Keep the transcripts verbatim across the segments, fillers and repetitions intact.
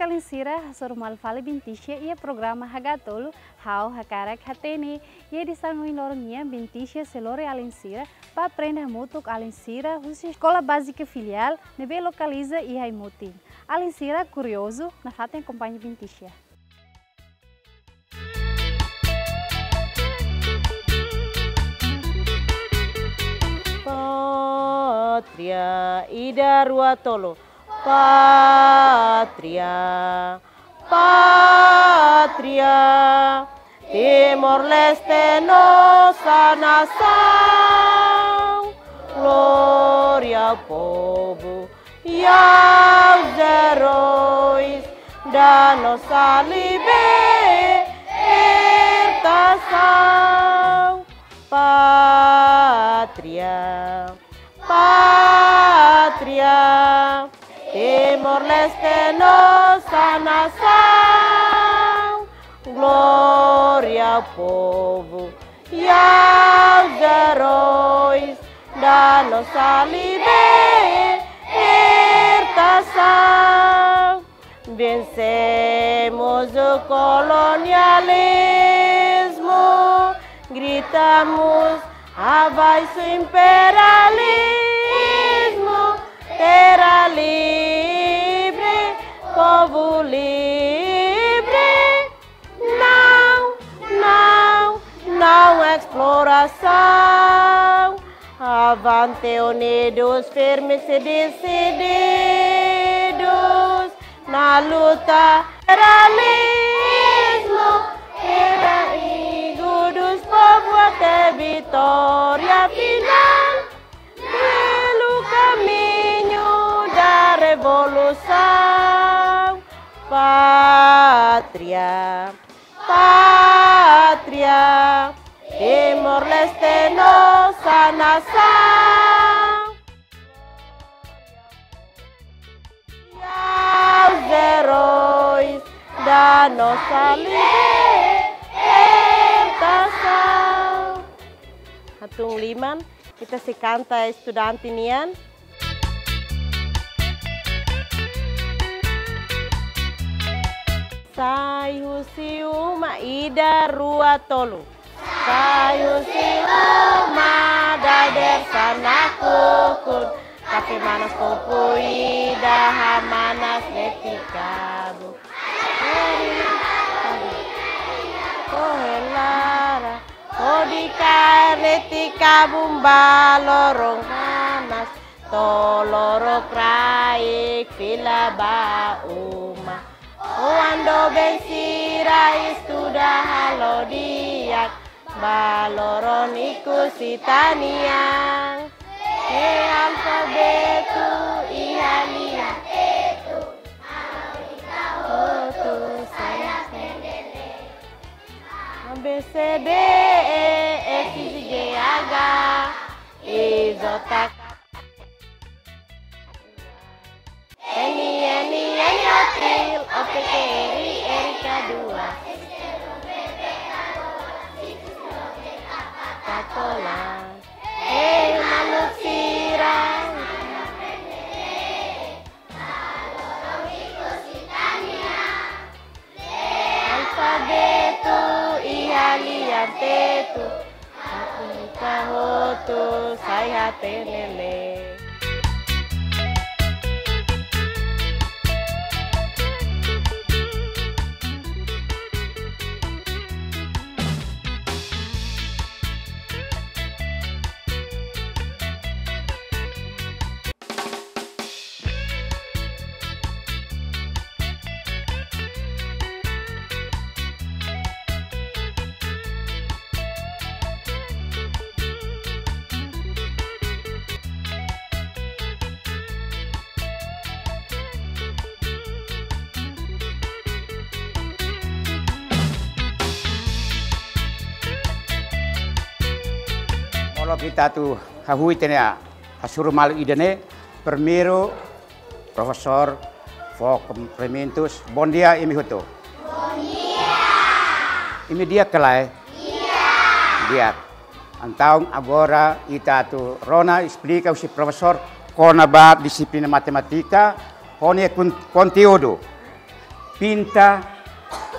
Alin sira, hasoru malu fali Bintisha iha programa Hagatolu, Ha'u Hakarak Hatene. Iha edisaun ohin loron nian, Bintisha sei lori alin sira ba aprende hamutuk alin sira husi Eskola Bázika Filiál ne'ebé lokaliza iha Aimutin. Alin sira kuriozu, nafatin akompaña Bintisha. Pátria, ida, rua, tolu. Pátria, pátria, Timor-Leste, nossa nação. Glória ao povo e aos heróis da nossa libertação. Pátria, pátria, Timor-Leste, nossa nação. Glória ao povo e aos heróis da nossa libertação. Vencemos o colonialismo, gritamos: abaixo imperialismo, terra livre, povo livre. Não, não, não exploração. Avante unidos, firmes e decididos na luta. Liberalismo, terra amigo dos povos até vitória final. Pelo caminho da revolução, pátria, pátria, Timor-Leste, nossa nação. E aos heróis da nossa libertação. Hatún liman, ita sei kanta estudante nian. Sai husi uma, ida, rua, tolu. Sai husi uma, dadeer-saan nakukun, kafé manas kopu ida, hamanas leti kabun. Kohe laran, hodi kaer leti kabun ba loron manas, to'o lorokraik fila ba uma. Oan doben sira estuda halo di'ak, ba loron ikus ita-nian. He alfabetu iha lian tetu, hotu sai hatene. A, B, C, D, E, F, G, H, I, J, K. N, N, N, O, three, O, P, Q, R, R, K, dua. Katola. Hei maluk sira. Alfabetu iha lian tetu, ita hotu sai hatene lee. Molok ita atu hahú ita-nia hasoru malu ida-ne'e, primeiru, profesór, fó kumprimentus. Bondia, imi hotu. Bondia. Imi di'ak ka lae? Di'ak. Di'ak. Entaun agora ita atu rona esplika husi profesór kona-ba dixiplina matemátika, ho nia kon-, konteúdu. pinta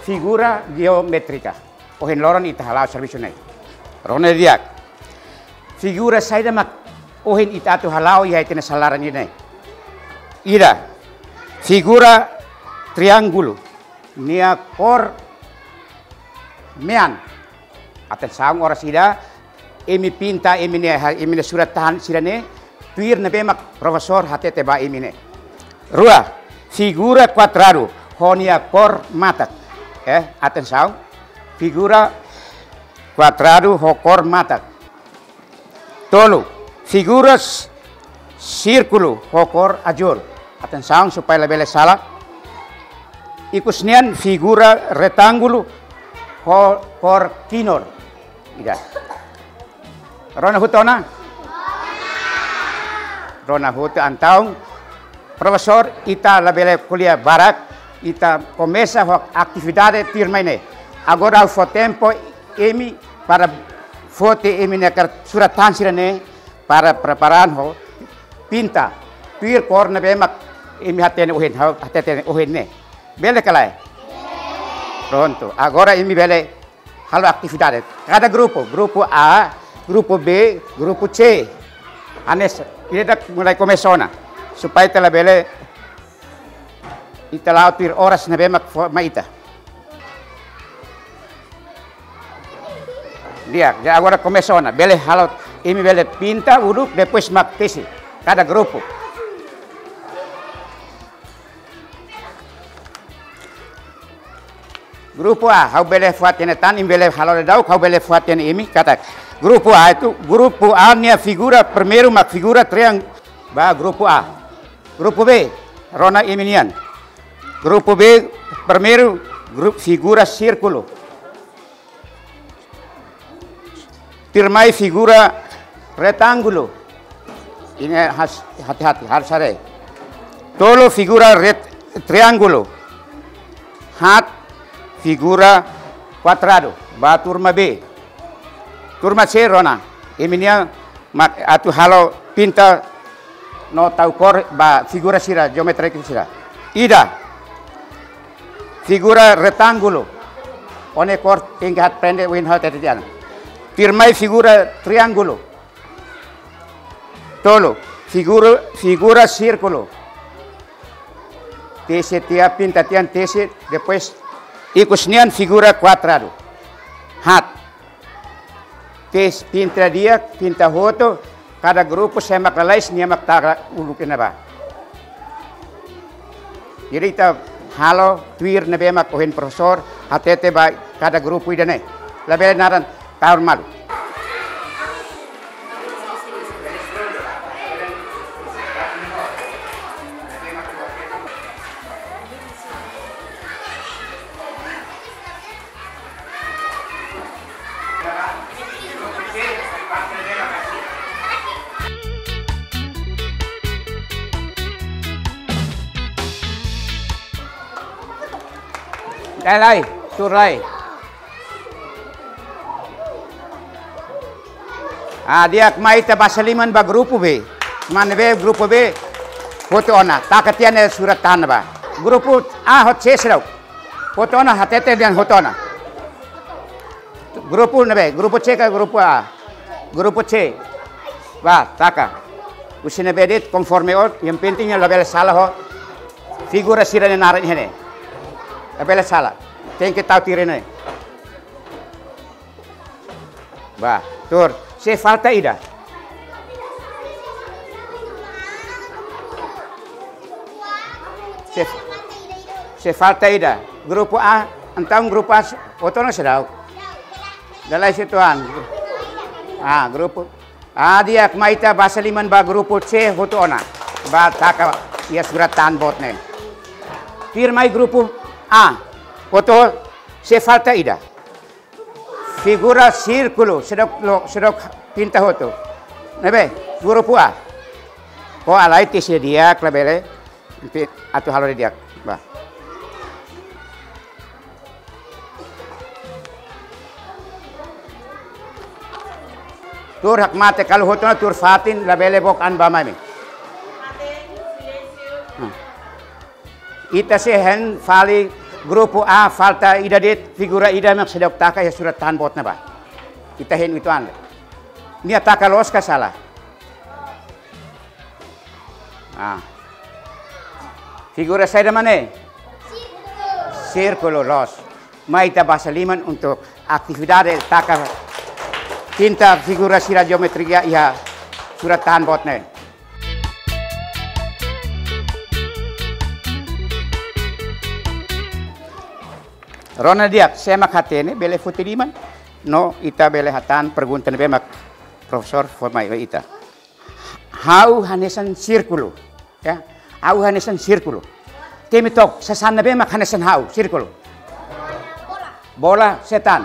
figura jeométrika. Ohin loron ita hala'o servisu ne'e. Rona di'ak. Figura saida mak ohin ita atu hala'o iha ita-nia sala laran ne'e? Ida, figura triángulu. Nia kór mean. Atensaun, oras ida imi pinta imi-nia, imi-nia surat-tahan sira-ne'e, tuir ne'ebé mak profesór hatete ba imi ne'e. Rua, figura kuadradu, ho nia kór matak. Eh, atensaun. Figura kuadradu ho kór matak. Tolu, figura s-, sírkulu ho kór azúl. Atensaun supaya labele sala. Ikus nian figura retángulu ho kór kinur. Ida. Rona hotu ona? Rona hotu, entaun, profesór, ita labele ko'alia barak, ita komesa ho atividade tuirmai ne'e. Agora ha'u fó tempu imi para foti imi-nia kar-, surat-tahan sira-ne'e para prepara ho pinta tuir kór ne'ebé mak imi hatene ohin, ha'u hatete ohin ne'e. Bele ka lae? Prontu. Agora imi bele halo atividade. Kada grupu, grupu A, grupu B, grupu C. Hanesan, ida-idak mulai komesa ona. Supaya ita labele, ita la'o tuir oras ne'ebé mak fó mai ita. Di'ak, di'ak, agora komesa ona. Bele halo, imi bele pinta uluk, depois mak tesi. Kada grupu. Grupu A, ha'u bele fó-hatene tan, imi bele halo daudaun, ha'u bele fó-hatene imi, katak. Grupu A itu, grupu A nia figura primeiru mak figura triang-, ba grupu A. Grupu B, rona imi-nian. Grupu B, primeiru, grupu figura sírkulu. Tuirmai figura retángulu. Ini has-, hati-hati, harus haree. Tolu figura ret-, triángulu. Haat figura kuadradu. Ba turma B. Turma C rona. Imi-nia mak atu halo pinta no tau kór ba figura sira, jeométrika sira. Ida, figura retángulu. Ó-nia kór tenke aprende ohin ha'u hatete tiha ona. Tuirmai figura triángulu. Tolu, figura, figura sírkulu. Tesi tiha, pinta tiha, tesi, depois ikus nian figura kuadradu. Haat. Tesi, pinta di'ak, pinta hotu, kada grupu sé mak lalais nia mak taka uluk iha ne'ebá. Jadi ita halo tuir ne'ebé mak ohin profesór hatete ba kada grupu ida-ne'e. Labele naran tahun malu. Dai lai, tuur lai. Ah, di'ak, mai ita basa liman ba grupu B. Mana be grupu B? Hotu ona. Taka tiha nia surat-tahan ba. Grupu A hotu C seidauk. Hotu ona, hatete dehan hotu ona. Grupu ne'ebé? Grupu C ka grupu A? Grupu C. Ba, taka. Husi ne'ebé de'it konforme ó, yang penting nia labele sala ho figura sira-nia naran iha ne'e. Labele sala. Tenke tau tiha ne'e. Ba, tuur. Sei falta ida. Sei, sei falta ida. Grupu A, entaun grupu A, hotu ona seidauk. Dala isi tuan. Ah, grupu. Ah, di'ak, mai ita basa liman ba grupu C hotu ona. Ba taka iha surat-tahan boot ne'e. Tuirmai grupu A. Hotu, sei falta ida. Figura sírkulu, seidauk lo, seidauk pinta hotu. Ne'ebé, grupu A. Ó halai tesi di'ak labele. Pi-, atu halo di'ak. Ba. Tuur hakmatek, kalau hotu ona tuur fatin, labele book an ba mai mai. Hmm. Ita sei hein fali Grupu A falta ida de'it, figura ida mak seidauk taka iha surat-tahan boot ne'ebá. Ita hein uitoan. Nia taka loos ka sala? Ah. Figura saida mak ne'e? Sírkulu, loos. Mai ita basa liman untuk atividade taka tinta figura sira jeometria iha surat-tahan boot ne'e. Rona di'ak, sé mak hatene bele foti liman, no ita bele hatán pergunta ne'ebé mak profesór fó mai ba ita. Ha'u hanesan sírkulu, ya. Ha'u hanesan sírkulu. Temi took, sasán ne'ebé mak hanesan ha'u, sírkulu? Bola, sé tan?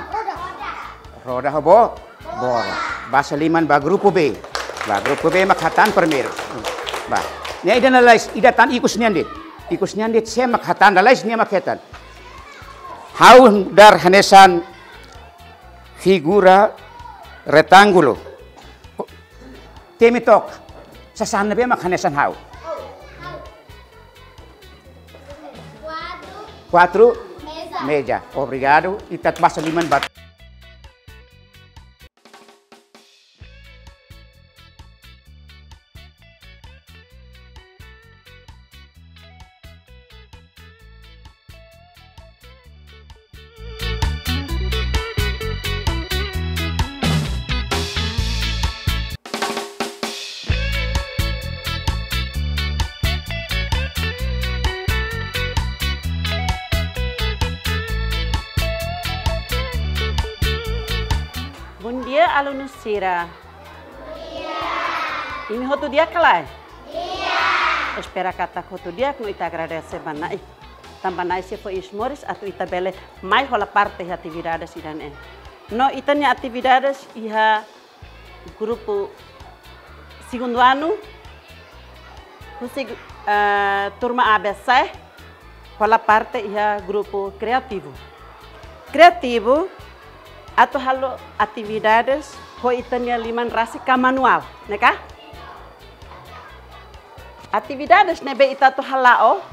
Roda ho bo-, bola. Basa liman ba grupu B. Ba grupu B mak hatán primeiru. Ba. Ne'e ida lalais, ida tan ikus nian de'it. Ikus nian de'it sé mak hatán lalais nia mak hetan. Ha'u nu'udar hanesan figura retángulu. Temi took, sasán ne'ebé mak hanesan ha'u? Quatro. Meja. Obrigadu. Ita basa liman ba. Bondia, alunu sira. Imi hotu di'ak ka lae? Di'ak. Espera katak hotu di'ak no ita agradese ba Na'i. Tanba Na'i sei fó iis moris atu ita bele mai hola parte iha atividades ida-ne'e. No ita-nia atividades iha grupu segundu anu, husi, eh, turma A B C, hola parte iha grupu kreativu. Kreativu atu halo atividades ho ita-nia liman rasik ka manuál, ne'e ka? Atividades ne'ebé ita atu hala'o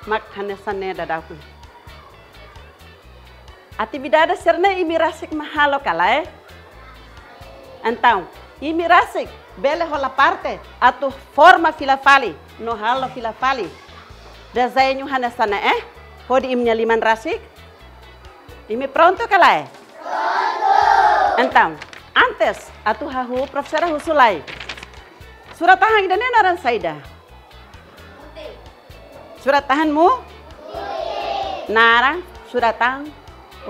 mak hanesan ne'e daudaun. Atividade sira-ne'e imi rasik mak halo ka lae? Entaun, imi rasik bele hola parte atu forma fila fali, no halo fila fali dezeñu hanesan ne'e hodi imi-nia liman rasik. Imi prontu ka lae? Prontu. Entaun, antes atu hahú, profesora husu lai. Surat-tahan ida-ne'e naran saida? Surat-tahan mu? Naran surat-tahan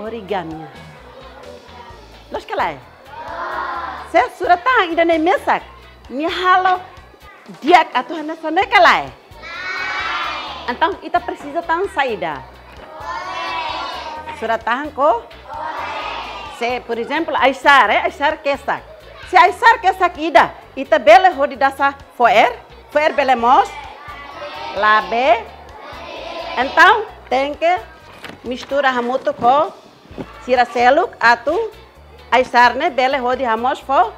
origami. Loos ka lae? Se surat-tahan ida-ne'e mesak, nia halo di'ak atu hanesan ne'e ka lae? Entaun, ita presiza tan saida? Surat-tahan ko? Se, por ezemplu, ai-sar, eh, ai-sar kesak. Se ai-sar kesak ida, ita bele hodi dasa fo'er, fo'er bele moos, labele. Entaun, tenke mistura hamutuk ho sira seluk atu ai-sar ne'e bele hodi hamoos fo-.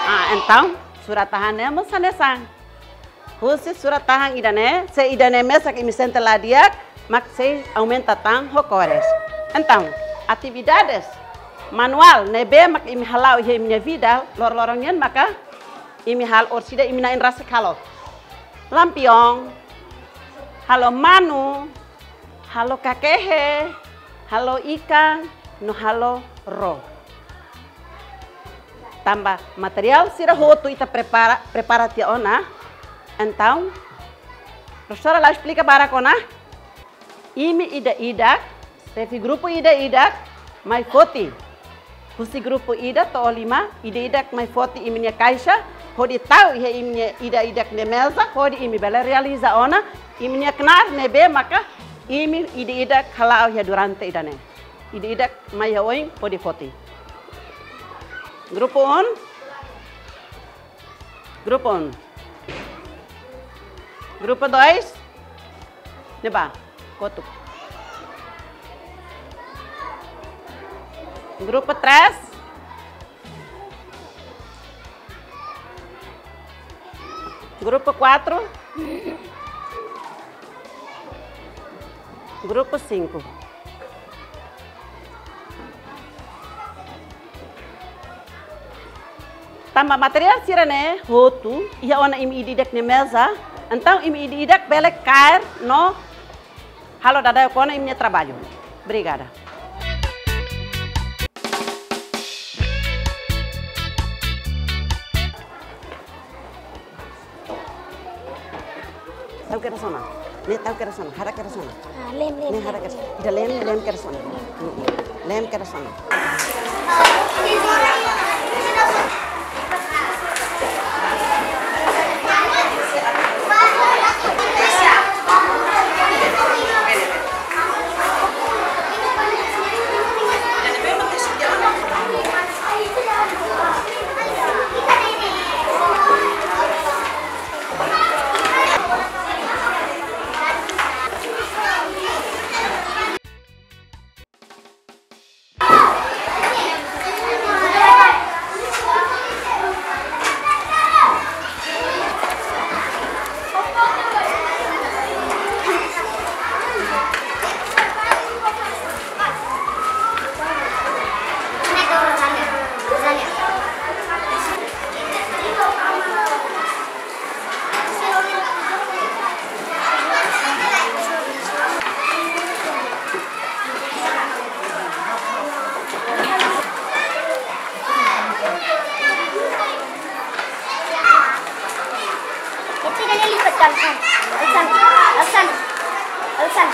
Ah, entaun, surat-tahan ne'e mós hanesan. Husi surat-tahan ida-ne'e, se ida-ne'e mesak imi sente la di'ak, mak sei aumenta tan ho kores. Entaun, atividades manuál ne'ebé mak imi hala'o iha imi-nia vida loroloron nian maka imi halo orsida imi na'in rasik halo. Lampion, halo manu, halo kakehe, halo ikan, no halo ró. Tanba materiál sira hotu ita prepara, prepara tiha ona. Entaun, profesora la esplika barak ona. Imi ida-idak, xefe grupu ida-idak, mai foti. Husi grupu ida to'o lima, ida-idak mai foti imi-nia kaixa, hodi tau iha imi-nia ida-idak nia meza, hodi imi bele realiza ona imi-nia knaar ne'ebé maka imi ida-idak hala'o iha durante ida-ne'e. Ida-idak mai iha oin hodi foti. Grupu um. Grupu um. Grupu dois. Ne'ebá, kotuk. Grupu três. Grupu quatro. Grupu cinco. Tanba materiál sira-ne'e hotu iha ona imi ida-idak nia meza, entaun imi ida-idak bele kaer no halo dadauk ona imi-nia traballu. Obrigada. Tau kedas ona. Ne'e tau kedas ona. Hara kedas ona. Ah, lem, lem, ne'e hara kedas. Ida lem, lem kedas ona. Lem kedas ona. Itu dia lipat, Alsan. Alsan. Alsan. Alsan.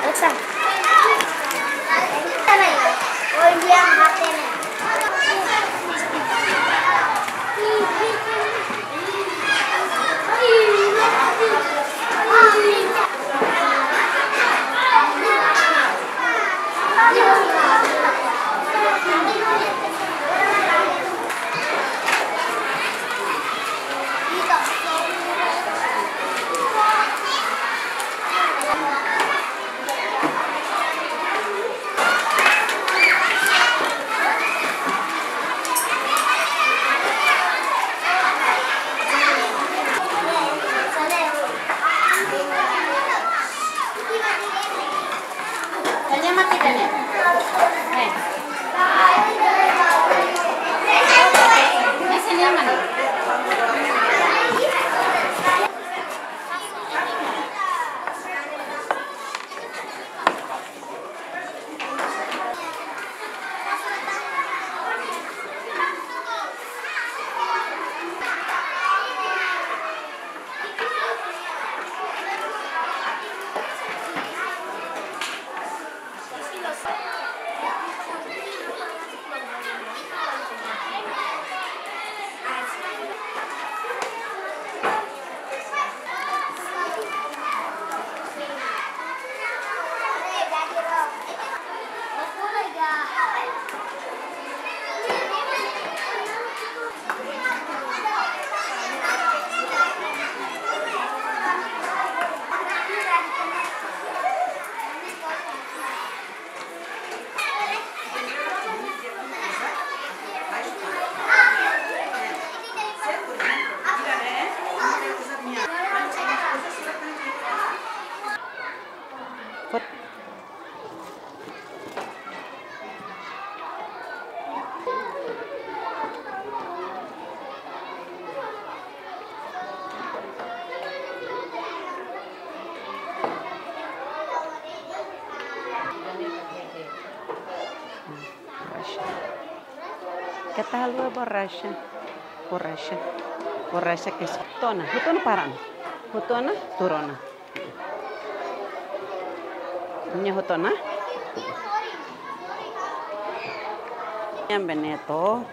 Alsan. Oh, dia mati nih. Borraxa. Keta haluha borraxa. Borraxa. Borraxa ke hotu ona. Hotu ona para ona. Hotu ona, tuur ona. Nia hotu ona. Yang beneto.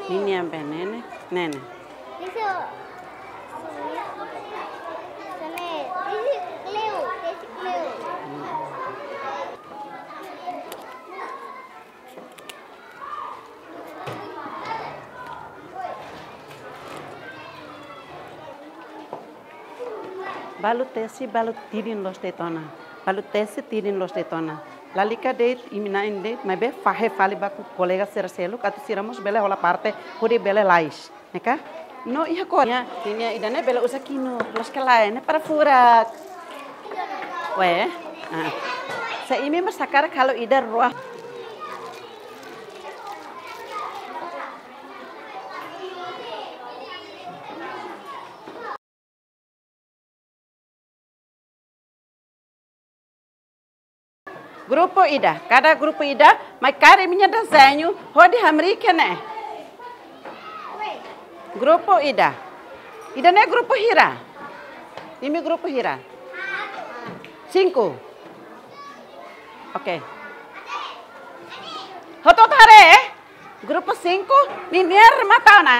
Ini yang benene. Nene. Isso. Também. Isso, Cleo. Esse Cleo. Balu tesi, balu tidin loos de'it ona. Balu tesi, tidin loos de'it ona. Lalika de'it, imi na'in de'it, maibé fahe fali ba kolega sira seluk, atu sira mós bele hola parte, hodi bele lais. Ne'e ka? No iha ko. Nia, nia ida-ne'e bele uza kinu, loos ka lae, ne'e para furak. Ué, ah. Se imi mós hakarak halo ida rua. Grupu ida, kada grupu ida, mai kaer imi-nia dezeñu, hodi hamriik iha ne'e. Grupu ida. Ida-ne'e grupu hira? Imi grupu hira? Cinco. Oke. Hotu-hotu haree, eh? Grupu cinco, ninia remata ona.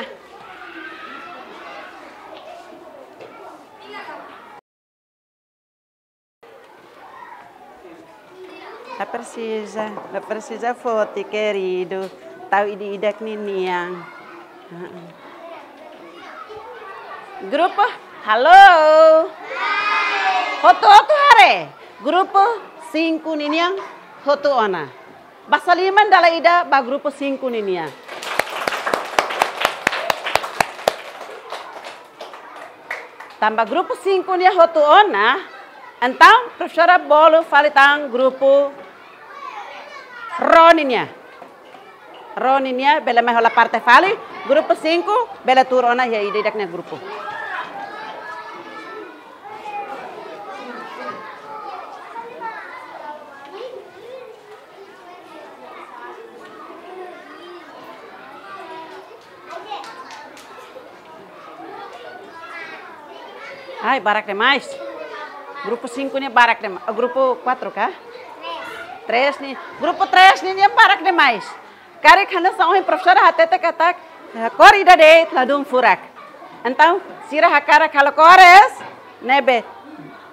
La presiza, la presiza foti, keridu. Tau ida-idak ninian. Heeh. Grupu, halo. Hotu-hotu haree. Grupu cinco ninian hotu ona. Basa liman dala ida ba grupu cinco ninian. Tanba grupu cinco nian hotu ona, entaun profesora bolu fali tan grupu rua nian. Rua nian bele mai hola parte fali, grupu cinco bele tuur ona iha ida-idak nia grupu. Ai, barak demais. Grupu cinco nian barak demais. Oh, grupu quatro ka? Três nian. Grupu três nian barak demais. Karik hanesan ohin profesora hatete katak, eh, kór ida de'it ladún furak. Entaun, sira hakarak halo kór es, ne'ebé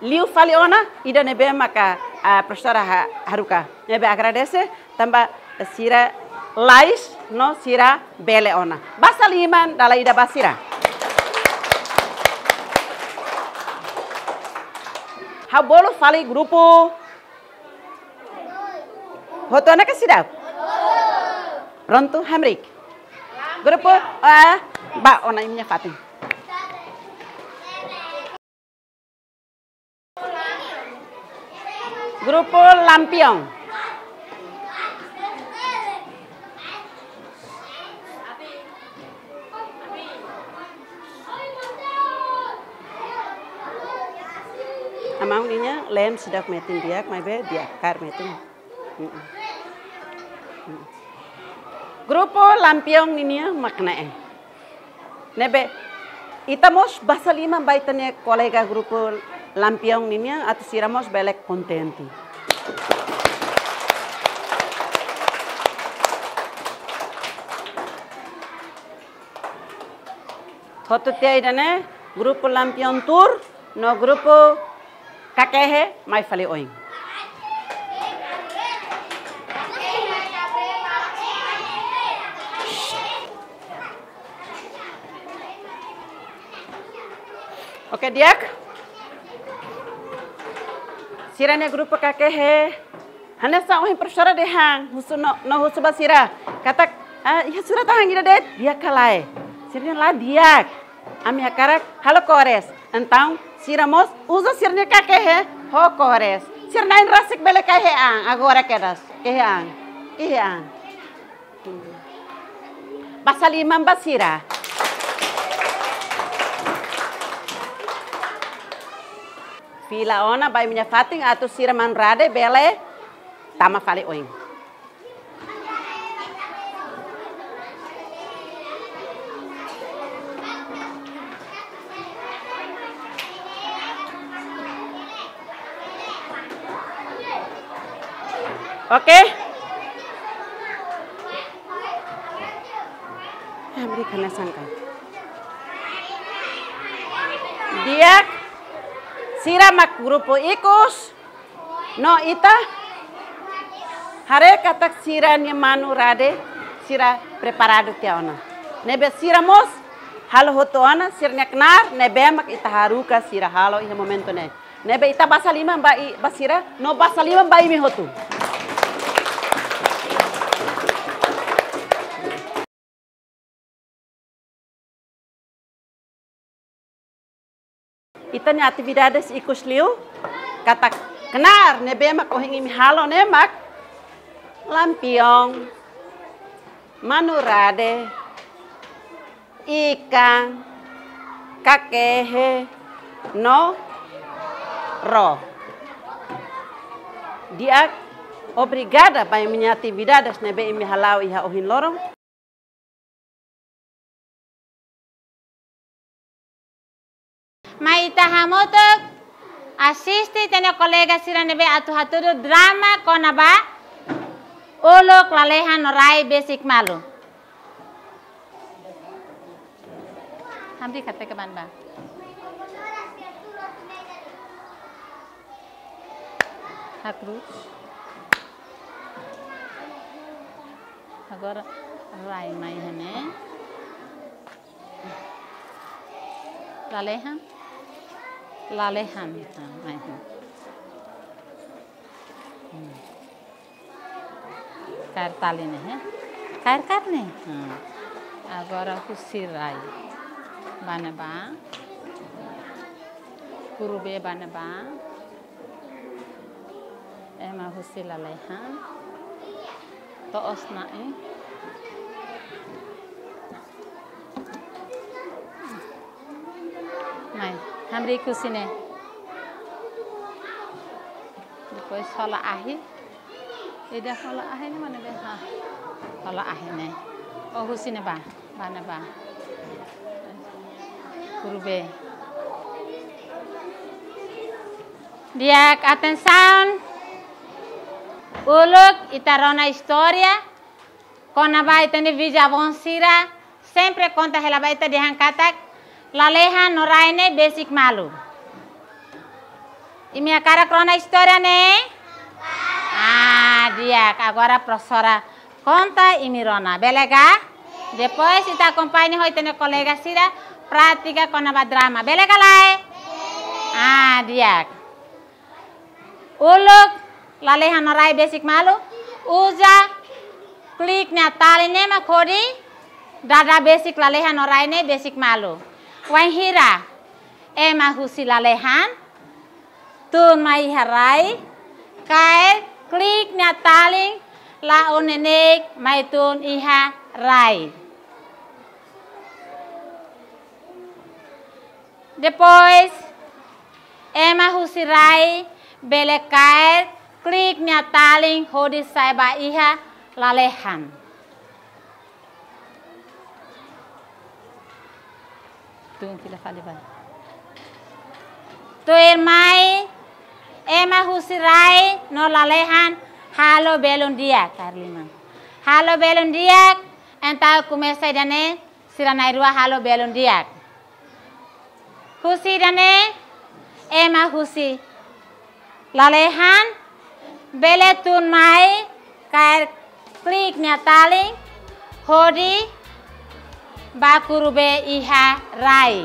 liu fali ona, ida ne'ebé maka, ah, profesora ha-, haruka. Ne'ebé agradese, tanba sira lais no sira bele ona. Basa liman dala ida ba sira. Ha'u bolu fali grupu hotu ona ka seidauk? Prontu, hamriik. Grupu, ah, bá ona imi-nia fatin. Grupu lampion. Amau ninia lem seidauk metin di'ak, maibé di'ak kaer metin. Mm-mm. Mm. Grupu lampion ninia mak ne'e. Ne'ebé, ita mós basa liman ba ita-nia kolega grupu lampion ninian, atu sira mós bele kontente. Hotu tiha ida-ne'e, grupu lampion tuur, no grupu kakehe mai fali oin. Oke, di'ak. Sira-nia grupu kakehe. Hanesan ohin profesora dehan, husu no, no husu ba sira. Katak, ah, iha surat hahán ida de'it, di'ak ka lae. Sira dehan la di'ak. Ami hakarak halo kór es. Entaun, sira mós uza sira-nia kakehe ho kór es. Sira na'in rasik bele kakehe an, agora kedas. Kehe an. Kehe an. Basa liman ba sira. Fila ona ba imi-nia fatin atu sira manu Rade bele tama fali oin. Oke? Hamriik hanesan ne'e. Di'ak, sira mak grupu ikus, no ita haree katak sira-nia manu Rade, sira preparadu tiha ona. Ne'ebé sira mós halo hotu ona, sira-nia knaar, ne'ebé mak ita haruka sira halo iha momentu ne'e. Ne'ebé ita basa liman ba i-, ba sira, no basa liman ba imi hotu. Ita-nia atividades ikus liu, katak Knaar ne'ebé mak ohin imi halo ne'e mak lampion, manu-rade, ikan, kakehe, no ró. Di'ak, obrigada ba imi-nia atividades ne'ebé imi hala'o iha ohin loron. Mai ita hamutuk asiste ita-nia kolega sira ne'ebé atu hatudu drama kona-ba uluk, lalehan no rai besik malu. Hamriik hateke ba ne'ebá. Hakrus. Agora rai mai iha ne'e. Lalehan. Lalehan. Ah, mai iha ne'e. Hmm. Kaer talin ne'e, eh? Kaer karne. Hmm. Agora husi rai. Ba ne'ebá. Kuru-bee ba ne'ebá. Ema husi lalehan. To'os na'in. Mai, hamriik husi ne'e. Depois hola ahi. Ida hola ahi ne'e mana be? Ha. Hola ahi ne'e. Oh, husi ne'ebá. Ba ne'ebá. Kuru-bee. Di'ak, atensaun. Uluk ita rona istória kona-ba ita-nia bisavó sira sempre konta hela ba ita dehan katak lalehan no rai ne'e besik malu. Imi hakarak rona istória ne'e? Ah, di'ak, agora profesora konta imi rona. Bele ka? Depois ita akompaña ho ita-nia kolega sira pratika kona-ba drama. Bele ka lae? Ah, di'ak. Uluk, lalehan no rai besik malu, uza klik nia talin ne'e mak hodi dada besik lalehan no rai ne'e besik malu. Wainhira ema husi lalehan tun mai iha rai, kaer klik nia talin la'o neineik mai tun iha rai. Depois, ema husi rai bele kaer klik nia talin hodi sa'e ba iha lalehan. Tun fila fali ba. Tuirmai, ema husi rai no lalehan halo belun di'ak, kaer liman. Halo belun di'ak, entaun komesa ida-ne'e, sira na'in-rua halo belun di'ak. Husi ida-ne'e, ema husi lalehan bele tun mai kaer klik nia talin hodi ba kuru-bee iha rai.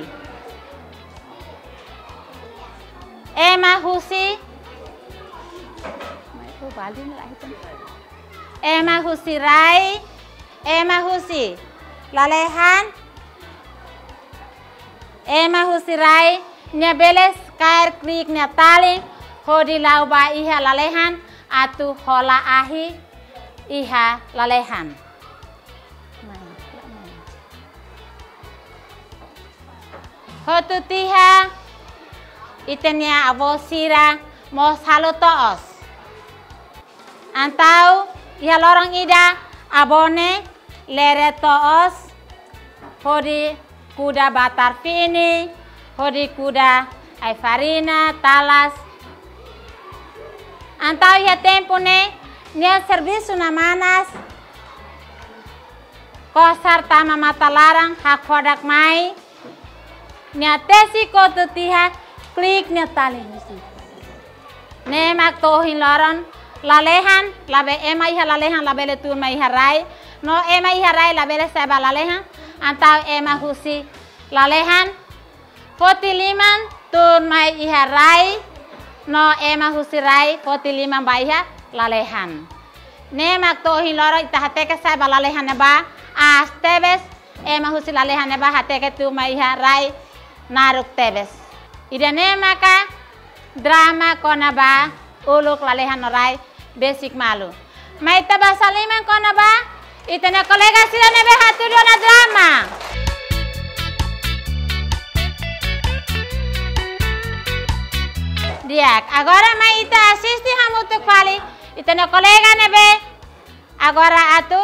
Ema husi, ema husi rai, ema husi lalehan, ema husi rai, nia bele kaer klik nia talin hodi la'o ba iha lalehan atu hola ahi iha lalehan. Hotu tiha, ita-nia avó sira mós halo to'os. Entaun iha loron ida, avó ne'e lere to'os hodi kuda batar fini, hodi kuda ai-farina, talas. Entaun iha tempu ne'e, nia servisu ne'e manas, kosar tama matan laran, hakfodak mai, nia tesi kotuk tiha, klik nia talin husi. Ne'e mak to'o ohin loron, lalehan, labele, ema iha lalehan labele tun mai iha rai, no ema iha rai labele sa'e ba lalehan, entaun ema husi lalehan foti liman tun mai iha rai, no ema husi rai foti liman ba iha lalehan. Ne'e mak to'o ohin loron ita hateke sa'e ba lalehan ne'ebá aas tebes, ema husi lalehan ne'ebá hateke tun mai iha rai naruk tebes. Ida-ne'e maka drama kona-ba uluk lalehan no rai besik malu. Mai ita basa liman kona-ba ita-nia kolega sira ne'ebé hatudu ona drama. Di'ak, agora mai ita asiste hamutuk fali ita-nia kolega ne'ebé agora atu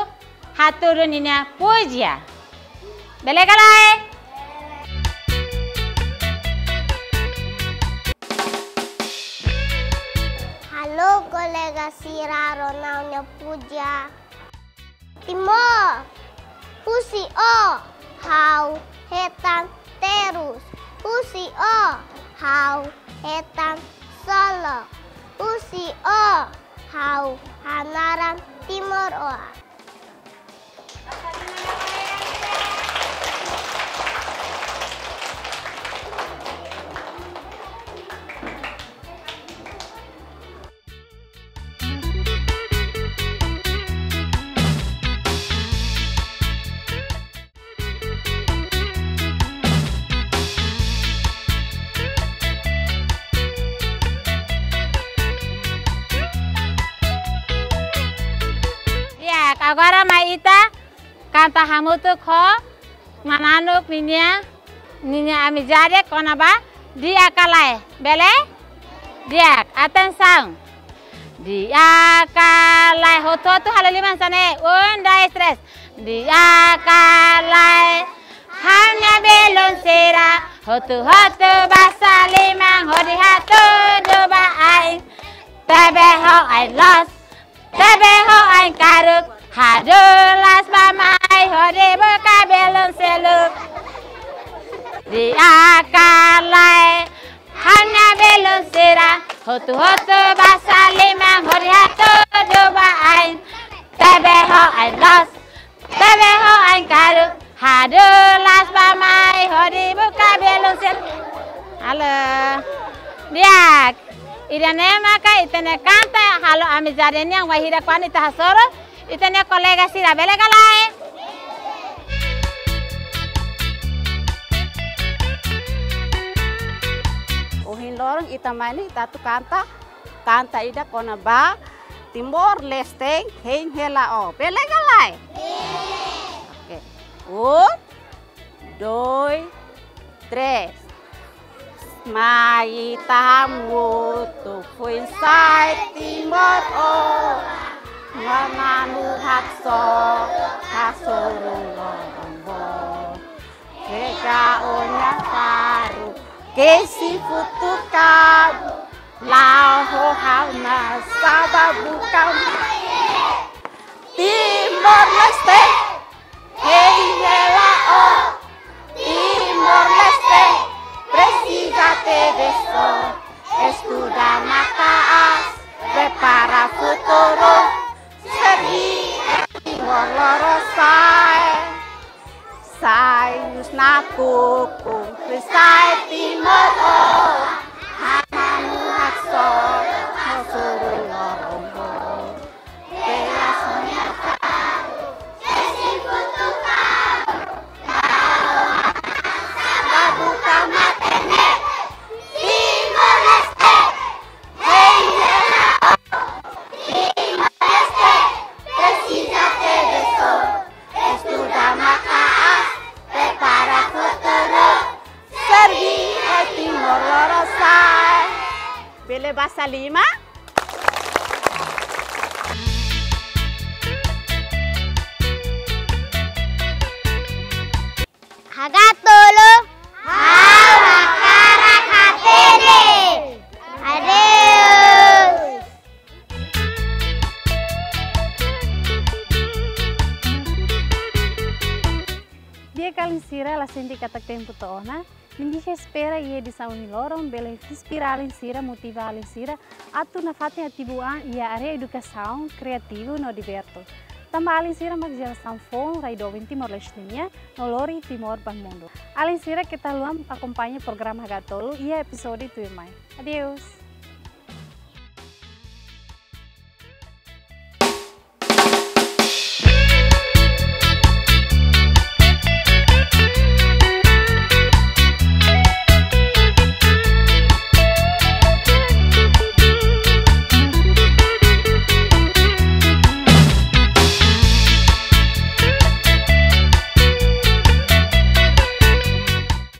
hatudu ninia púzia. Bele ka lae? Halo kolega sira, rona ha'u-nia púzia. Timor, husi ó ha'u hetan terus, husi ó ha'u hetan solok, husi ó ha'u hanaran timoroan. Di'ak, agora mai ita kanta hamutuk ho mananuk ninia, ninia amizade kona-ba di'ak ka lae. Bele? Di'ak, atensaun. Di'ak ka lae, hotu-hotu halo liman hanesan ne'e. Un, dois, três. Di'ak ka lae, ha'u-nia belun sira, hotu-hotu basa liman hodi hatudu ba ain. Tebe ho ain loos, tebe ho ain karuk, hadulas ba mai hodi buka belun seluk. Di'ak ka lae, ha'u-nia belun sira, hotu-hotu basa liman hodi hatudu ba ain. Tebe ho ain loos, tebe ho ain karuk, hadulas ba mai hodi buka belun seluk. Halo. Di'ak. Ida-ne'e maka ita-nia kanta halo amizade nian, wainhira kuandu ita hasoru ita-nia kolega sira, bele ka lae? Ohin loron ita mai ne'e ita atu kanta, kanta ida kona-ba Timor-Leste, hein hela ó. Bele ka lae? Oke. Un, dois, três. Mai ita hamutuk foin-sa'e timoroan, mananu haksolok, hasoru loron boot. Pega ó-nia faru, kesi futuk kabun, la'o ho ha'u ona sa'e ba buka mate. Timor-Leste, hein hela ó. Timor-Leste presiza tebes ó. Estuda maka'as, prepara futuru. Serbí Timor lorosa'e. Sai husi nakukun, sai timoroan. Mananu haksolok, hasoru loron boot. Estuda maka'as, prepara futuru. Serbí Timor lorosa'e. Bele basa liman. Hagatolu. Ha'u hakarak hatene. Adeus. Di'ak, alin sira, la sente katak tempu to'o ona. Ne'ebé espera iha edisaun ohin loron bele inspira alin sira, motiva alin sira atu nafatin ativu an iha área edukasaun, kreativu no divirtu. Tanba alin sira mak jerasaun foun rai doben Timor-Leste nian no lori Timor ba mundu. Alin sira, keta haluha akompaña programa Hagatolu iha epizódiu tuirmai. Adeus.